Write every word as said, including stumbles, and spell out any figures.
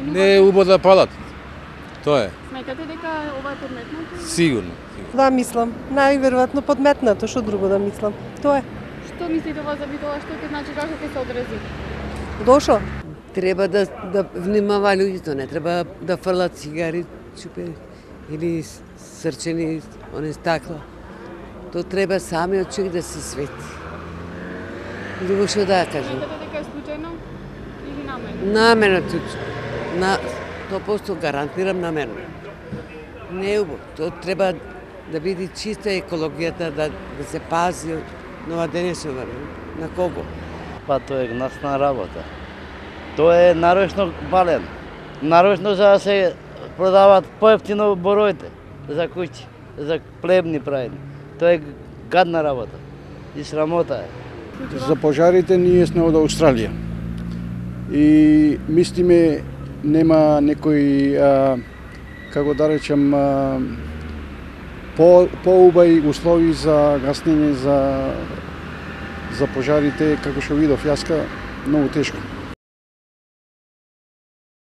Не е убаво да палат. Тоа е. Сметате дека ова е подметнато? Сигурно. Да, мислам. Најверојатно подметнато, што друго да мислам. Тоа е. Што мислите ова за тоа, што ќе значи, како ќе се одрази? Дошо? Треба да, да внимава луѓето, не треба да фрлат цигари, чупе или срчени, оне стакла. То треба самиот човек да се свети. Друго што да кажам. Сметате дека е случајно или намерно? Намерно, на сто проценти гарантирам намерно. Не е убаво. То треба да биде чиста екологијата, да, да се пази нова денешна на кого? Па тоа е насна работа. Тоа е нарочно бален. Нарочно за да се продават поевтино бороите за куќи, за плебни правени. Тоа е гадна работа и срамота е. За пожарите ние сме од Австралија. И мислиме нема некои, а, како да речем, а, по поубави услови за гаснење за за пожарите, како што видов јаска, многу тешко.